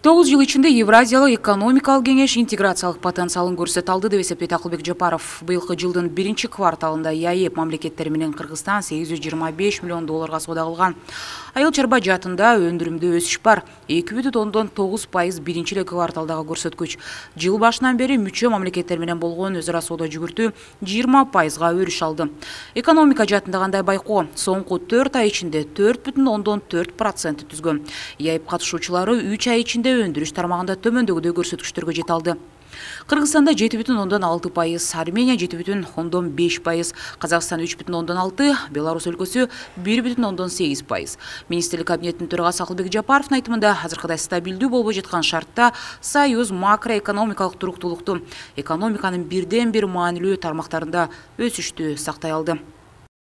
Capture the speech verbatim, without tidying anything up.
тогуз жыл ичинде Евразиялык экономикалык кеңеш интеграциялык потенциалын көрсөтө алды деп эсептейт Акылбек Жапаров. Быйылкы жылдын биринчи кварталында ЕАЭП мамлекеттери менен Кыргызстан сегиз жүз жыйырма беш миллион долларга соода кылган. Айыл чарба жаатында өндүрүмдө өсүш бар. эки бүтүн ондон тогуз пайыз биринчи эле кварталдагы көрсөткүч. Жыл башынан бери мүчө мамлекеттер менен болгон өзара соода жүгүртүү жыйырма пайызга өрүш алды. Экономика жаатында кандай байкоо? Соңку төрт ай ичинде төрт бүтүн ондон төрт процент түзгөн. ЕАЭП катышуучулары үч ай ичинде өндүрүш тармагында төмөндөгүдөй көрсөткүчтөргө жете алды. Кыргызстанда жети бүтүн ондон алты пайыз, Армения жети бүтүн ондон беш пайыз, Казакстан үч бүтүн ондон алты, Беларусь өлкөсү бир бүтүн ондон сегиз пайыз. Министрлик кабинетинин төрагасы Акылбек Жапаровдун айтымында азыркыдай стабилдүү болбой жаткан шартта Союз макроэкономикалык туруктуулукту, экономиканын бирден бир маанилүү тармактарында өсүштү сактай алды.